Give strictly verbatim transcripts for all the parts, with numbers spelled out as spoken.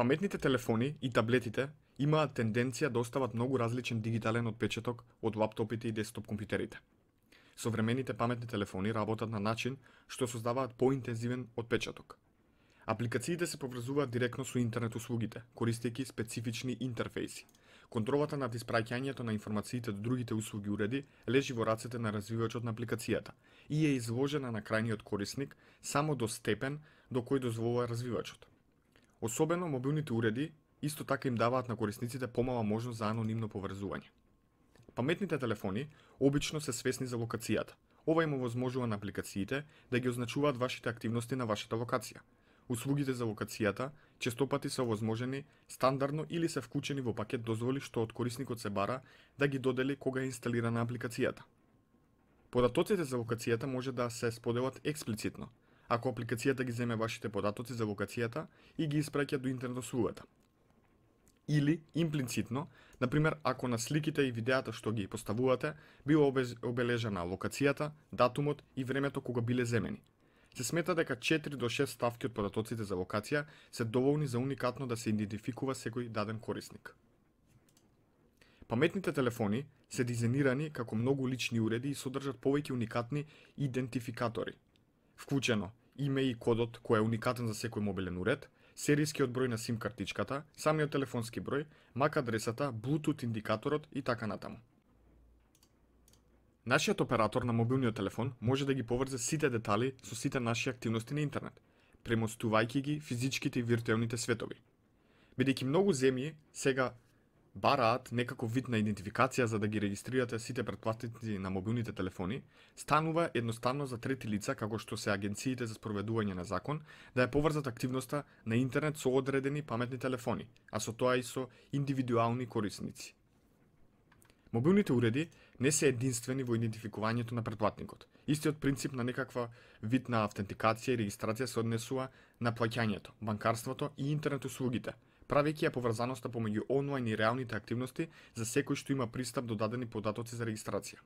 Паметните телефони и таблетите имаат тенденција да остават многу различен дигитален отпечаток од лаптопите и десктоп компјутерите. Современите паметни телефони работат на начин што создаваат поинтензивен отпечаток. Апликациите се поврзуваат директно со интернет услугите, користејќи специфични интерфејси. Контролата над испраќањето на информациите до другите услуги уреди лежи во рацете на развивачот на апликацијата и е изложена на крајниот корисник само до степен до кој дозволува развивачот. Особено мобилните уреди исто така им даваат на корисниците помала можност за анонимно поврзување. Паметните телефони обично се свесни за локацијата. Ова им овозможува на апликациите да ги означуваат вашите активности на вашата локација. Услугите за локацијата честопати се овозможени стандардно или се вклучени во пакет дозволи што од корисникот се бара да ги додели кога е инсталирана апликацијата. Податоците за локацијата може да се споделат експлицитно, ако апликацијата ги земе вашите податоци за локацијата и ги испраќа до интернет услугата. Или имплицитно, например, ако на сликите и видеата што ги поставувате било обележана локацијата, датумот и времето кога биле земени. Се смета дека четири до шест ставки од податоците за локација се доволни за уникатно да се идентификува секој даден корисник. Паметните телефони се дизајнирани како многу лични уреди и содржат повеќе уникатни идентификатори. Вклучено име и кодот кој е уникатен за секој мобилен уред, серискиот број на сим картичката, самиот телефонски број, мак адресата, Bluetooth индикаторот и така натаму. Нашиот оператор на мобилниот телефон може да ги поврзе сите детали со сите наши активности на интернет, премостувајќи ги физичките и виртуелните светови. Бидејќи многу земји сега бараат некаков вид на идентификација за да ги регистрирате сите претплатници на мобилните телефони, станува едноставно за трети лица, како што се агенциите за спроведување на закон, да ја поврзат активноста на интернет со одредени паметни телефони, а со тоа и со индивидуални корисници. Мобилните уреди не се единствени во идентификувањето на претплатникот. Истиот принцип на некаква вид на автентикација и регистрација се однесува на плаќањето, банкарството и интернет услугите, правејќи ја поврзаноста помеѓу онлайн и реалните активности за секој што има пристап до дадени податоци за регистрација.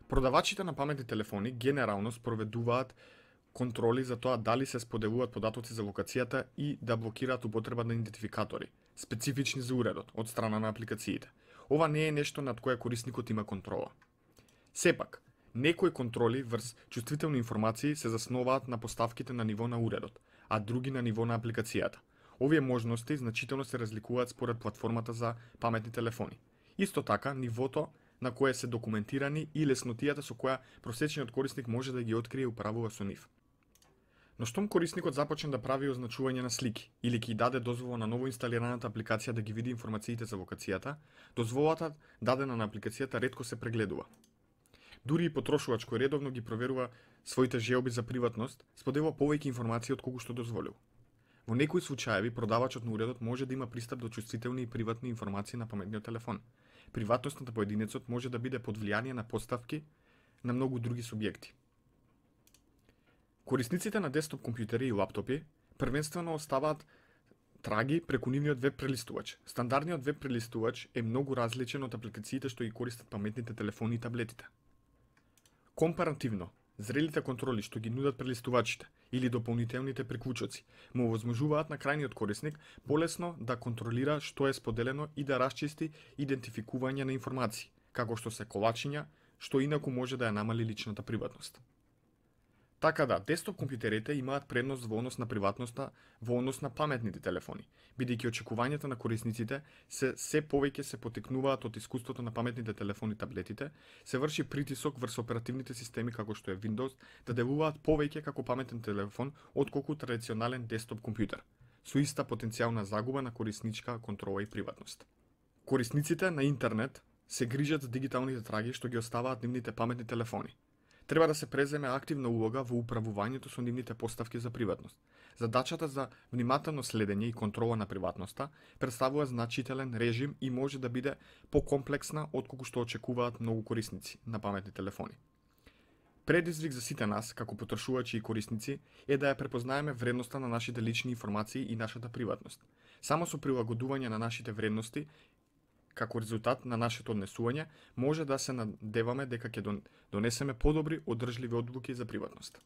Продавачите на паметни телефони генерално спроведуваат контроли за тоа дали се споделуваат податоци за локацијата и да блокираат употреба на идентификатори, специфични за уредот, од страна на апликациите. Ова не е нешто над кое корисникот има контрола. Сепак, некои контроли врз чувствителни информации се засноваат на поставките на ниво на уредот, а други на ниво на апликацијата. Овие можности значително се разликуваат според платформата за паметни телефони. Исто така, нивото на кое се документирани и леснотијата со која просечниот корисник може да ги открие и управува со нив. Но штом корисникот започне да прави означување на слики или ќе даде дозвола на ново инсталираната апликација да ги види информациите за локацијата, дозволата дадена на апликацијата ретко се прегледува. Дури и потрошувач кој редовно ги проверува своите желби за приватност, споделува повеќе информации од колку што дозволил. Во некои случаеви продавачот на уредот може да има пристап до чувствителни и приватни информации на паметниот телефон. Приватноста на поединецот може да биде под влијание на поставки на многу други субјекти. Корисниците на десктоп компјутери и лаптопи првенствено оставаат траги преку нивниот веб прелистувач. Стандардниот веб прелистувач е многу различен од апликациите што ги користат паметните телефони и таблетите. Компаративно, зрелите контроли што ги нудат прелистувачите или дополнителните приклучоци му овозможуваат на крајниот корисник полесно да контролира што е споделено и да расчисти идентификување на информации, како што се колачиња, што инаку може да ја намали личната приватност. Така да, десктоп компјутерите имаат предност во однос на приватноста во однос на паметните телефони, бидејќи очекувањата на корисниците се се повеќе се потекнуваат од искуството на паметните телефони и таблетите, се врши притисок врз оперативните системи како што е Windows да делуваат повеќе како паметен телефон отколку традиционален десктоп компјутер, со иста потенцијална загуба на корисничка контрола и приватност. Корисниците на интернет се грижат за дигиталните траги што ги оставаат нивните паметни телефони. Треба да се преземе активна улога во управувањето со нивните поставки за приватност. Задачата за внимателно следење и контрола на приватноста представува значителен режим и може да биде покомплексна отколку што очекуваат многу корисници на паметни телефони. Предизвик за сите нас, како потрошувачи и корисници, е да ја препознаеме вредноста на нашите лични информации и нашата приватност. Само со прилагодување на нашите вредности како резултат на нашето однесување, може да се надеваме дека ќе донесеме подобри, одржливи одлуки за приватност.